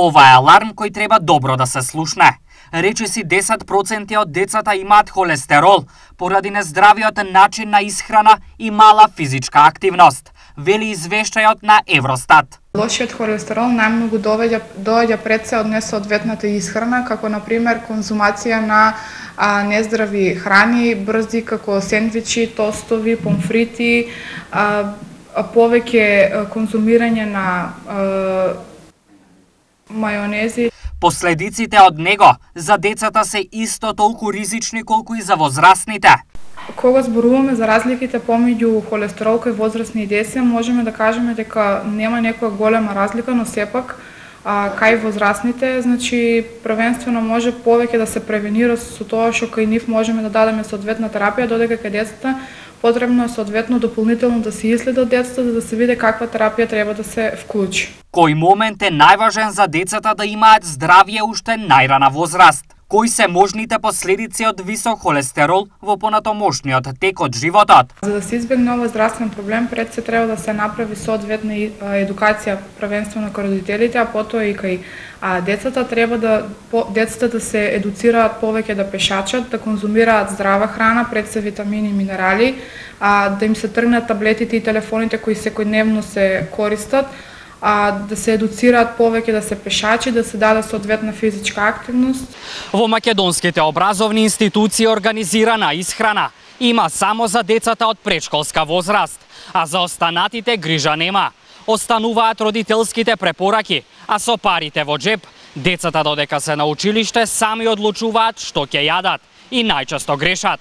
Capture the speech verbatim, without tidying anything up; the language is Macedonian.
Ова е аларм кој треба добро да се слушне. Речиси десет проценти од децата имаат холестерол поради нездравиот начин на исхрана и мала физичка активност, вели извештајот на Евростат. Лошиот холестерол најмногу доаѓа доаѓа пред се од несоодветната исхрана, како на пример конзумација на а, нездрави храни, брзи како сендвичи, тостови, помфрити, а, а повеќе конзумирање на а, мајонези. Последиците од него за децата се исто толку ризични колку и за возрастните. Кога зборуваме за разликите помеѓу холестерол кај возрастни и деца, можеме да кажеме дека нема некоја голема разлика, но сепак а, кај возрастните, значи првенствено може повеќе да се превенира со тоа што кај нив можеме да дадеме соодветна терапија, додека кај децата потребно е соодветно дополнително да се иследат децата за да се види каква терапија треба да се вклучи. Кој момент е најважен за децата да имаат здравје уште најрана возраст? Кои се можните последици од висок холестерол во понатомошниот тек од животот? За да се избегне овој здравствен проблем, пред се треба да се направи соодветна едукација првенствено кај родителите, а потоа и кај а, децата. Треба да по, децата да се едуцираат повеќе да пешачат, да конзумираат здрава храна, пред се витамини и минерали, а, да им се тргнат таблетите и телефоните кои секојдневно се користат, а, да се едуцираат повеќе да се пешачи, да се даде соодветна физичка активност. Во македонските образовни институции организирана исхрана има само за децата од претшколска возраст, а за останатите грижа нема. Остануваат родителските препораки, а со парите во джеп, децата додека се на училиште сами одлучуваат што ќе јадат и најчесто грешат.